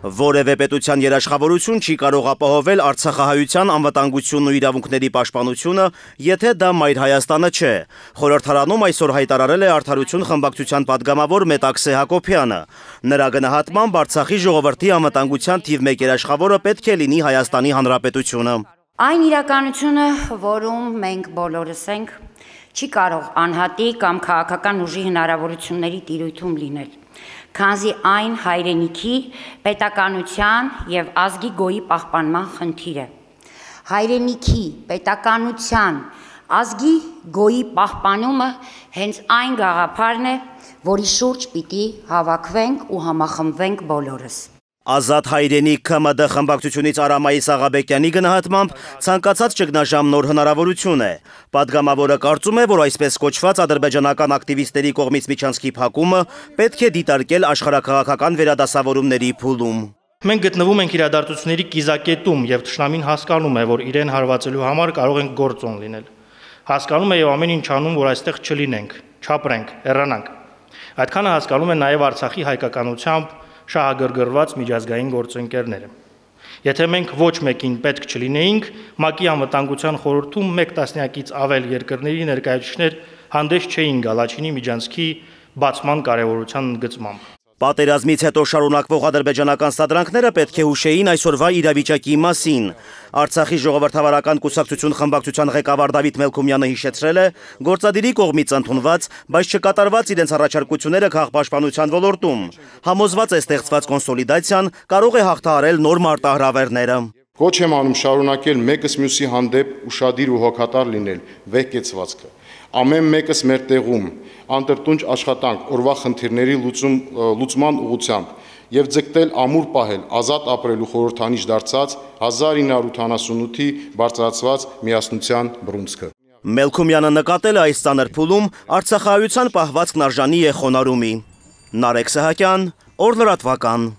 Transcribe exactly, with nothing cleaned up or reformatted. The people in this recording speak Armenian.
Որևէ պետության երաշխավորություն չի կարող ապահովել արցախահայության անվտանգությունն ու իրավունքների պաշտպանությունը, եթե դա Մայր Հայաստանը չէ։ Խորհրդարանում այսօր հայտարարել է Արդարություն խմբակցության падգամավոր Մետաքսե Հակոբյանը։ Նրա գնահատմամբ Արցախի ժողովրդի անվտանգության թիվ մեկ երաշխավորը պետք է լինի Հայաստանի Հանրապետությունը։ Այն իրականությունը, որում մենք բոլորս ենք, չի կարող անհատի կամ քաղաքական ուժի հնարավորությունների տիրույթում լինել, քանզի այն հայրենիքի, պետականության և ազգի գոյի պահպանման խնդիր է։ Հայրենիքի, պետականության, ազգի գոյի պահպանումը հենց այն գաղափարն է, որի շուրջ պիտի հավաքվենք ու համախմբվենք բոլորս։ Ազատ հայրենիք ՔՄԴ խմբակցությունից Արամայիս Աղաբեկյանի գնահատմամբ ցանկացած ճգնաժամ նոր հնարավորություն է։ Պատգամավորը կարծում է, որ այսպես կոչված ադրբեջանական ակտիվիստների կողմից միջանցքի փակումը պետք է դիտարկել աշխարհաքաղաքական վերադասավորումների փուլում։ Մենք գտնվում ենք իրադարձությունների կիզակետում եւ թշնամին հասկանում է, որ իրեն հարվածելու համար կարող ենք գործոն լինել։ Հասկանում է եւ ամեն ինչ անում, որ այստեղ չլինենք, չապրենք, հեռանանք։ Այդքանը հասկանում է նաեւ Արցախի հայկականությամբ շահագրգռված միջազգային գործընկերները։ Եթե մենք ոչ մեկին պետք չլինեինք, ՄԱԿ-ի անվտանգության խորհրդում մեկ տասնյակից ավել երկրների ներկայացուցիչներ հանդես չէին գալ Ալաչինի միջանցքի բացման կարևորության ընդգծմամբ։ Պատերազմից հետո շարունակվող ադրբեջանական սադրանքները պետք է հուշեին այսօրվա իրավիճակի մասին։ Արցախի ժողովրդավարական կուսակցություն խմբակցության ղեկավար Դավիթ Մելքումյանը հիշեցրել է, գործադիրի կողմից ընդունված, բայց չկատարված իրենց առաջարկությունները քաղաքապաշտպանության ոլորտում։ Համոզված է ստեղծված կոնսոլիդացիան կարող է հաղթահարել նոր մարտահրավերները։ Կոչ եմ անում շարունակել մեկս մյուսի հանդեպ ուշադիր ու հոգատար լինել վեհկեցվածքը։ Ամեն մեկս մեր տեղում անտրտունջ աշխատանք օրվա խնդիրների լուծում, լուծման ուղղությամբ եւ ձգտել ամուր պահել ազատ ապրելու խորհրդանիշ դարձած հազար ինը հարյուր ութանասունութի բարձրացված միասնության բռունցքը։ Մելքումյանը նկատել է այս ծանր փուլում արցախահայության պահվածքն արժանի է խոնարհումի։ Նարեկ Սահակյան, Օր լրատվական։